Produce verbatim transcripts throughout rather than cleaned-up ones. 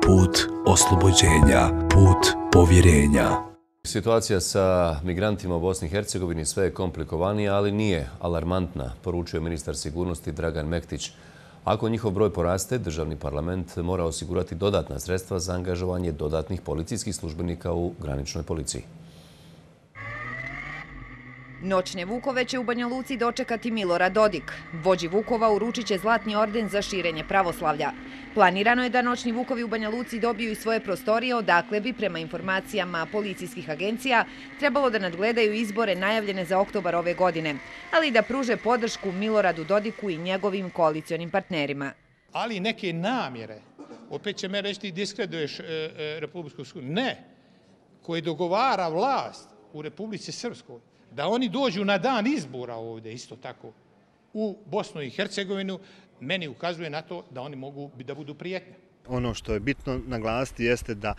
put oslobođenja, put povjerenja. Situacija sa migrantima u Bosni i Hercegovini sve je komplikovanija, ali nije alarmantna, poručuje ministar sigurnosti Dragan Mektić. Ako njihov broj poraste, državni parlament mora osigurati dodatna sredstva za angažovanje dodatnih policijskih službenika u graničnoj policiji. Noćne Vukove će u Banja Luci dočekati Milorad Dodik. Vođi Vukova uručit će zlatni orden za širenje pravoslavlja. Planirano je da Noćni Vukovi u Banja Luci dobiju i svoje prostorije, odakle bi, prema informacijama policijskih agencija, trebalo da nadgledaju izbore najavljene za oktobar ove godine, ali i da pruže podršku Miloradu Dodiku i njegovim koalicionim partnerima. Ali neke namjere, opet će me reći ti diskreduješ e, e, Republiku Srpsku, ne, koji dogovara vlast u Republici Srpskoj, da oni dođu na dan izbora ovdje, isto tako, u Bosnu i Hercegovinu, meni ukazuje na to da oni mogu da budu prijetnje. Ono što je bitno naglasiti jeste da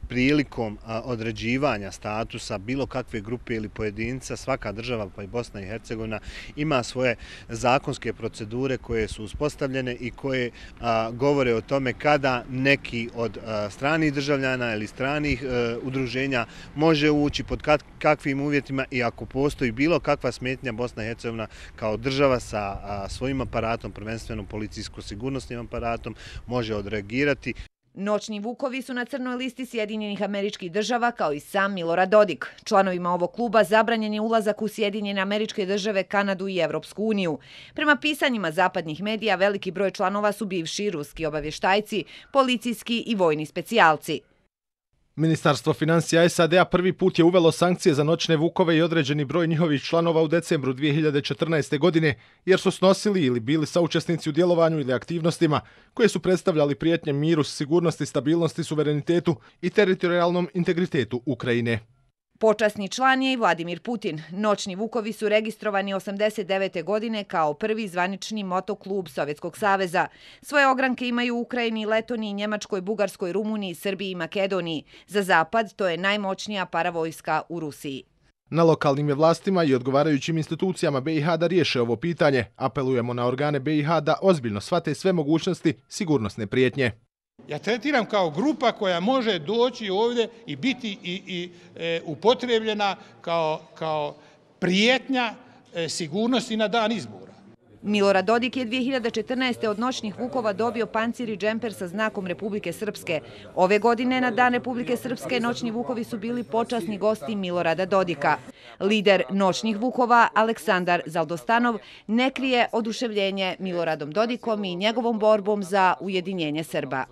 prilikom određivanja statusa bilo kakve grupe ili pojedinca, svaka država, pa i Bosna i Hercegovina, ima svoje zakonske procedure koje su uspostavljene i koje a, govore o tome kada neki od a, stranih državljana ili stranih a, udruženja može ući, pod kakvim uvjetima i ako postoji bilo kakva smetnja, Bosna i Hercegovina kao država sa a, svojim aparatom, prvenstveno policijsko-sigurnosnim aparatom, može odreagirati. Noćni Vukovi su na crnoj listi Sjedinjenih Američkih Država kao i sam Milorad Dodik. Članovima ovog kluba zabranjen je ulazak u Sjedinjene Američke Države, Kanadu i Evropsku uniju. Prema pisanjima zapadnih medija, veliki broj članova su bivši ruski obavještajci, policijski i vojni specijalci. Ministarstvo financija S A D-a prvi put je uvelo sankcije za Noćne Vukove i određeni broj njihovih članova u decembru dvije hiljade četrnaeste. godine, jer su snosili ili bili saučesnici u djelovanju ili aktivnostima koje su predstavljali prijetnje miru, sigurnosti, stabilnosti, suverenitetu i teritorijalnom integritetu Ukrajine. Počasni član je i Vladimir Putin. Noćni Vukovi su registrovani osamdeset devete. godine kao prvi zvanični motoklub Sovjetskog saveza. Svoje ogranke imaju u Ukrajini, Letoniji, Njemačkoj, Bugarskoj, Rumuniji, Srbiji i Makedoniji. Za zapad to je najmoćnija paravojska u Rusiji. Na lokalnim je vlastima i odgovarajućim institucijama B i H da riješe ovo pitanje. Apelujemo na organe B i H da ozbiljno shvate sve mogućnosti sigurnosne prijetnje. Ja tretiram kao grupa koja može doći ovdje i biti i, i e, upotrebljena kao, kao prijetnja e, sigurnosti na dan izbora. Milorad Dodik je dvije hiljade četrnaeste. od Noćnih Vukova dobio pancir i džemper sa znakom Republike Srpske. Ove godine na dan Republike Srpske Noćni Vukovi su bili počasni gosti Milorada Dodika. Lider Noćnih Vukova, Aleksandar Zaldostanov, ne krije oduševljenje Miloradom Dodikom i njegovom borbom za ujedinjenje Srba.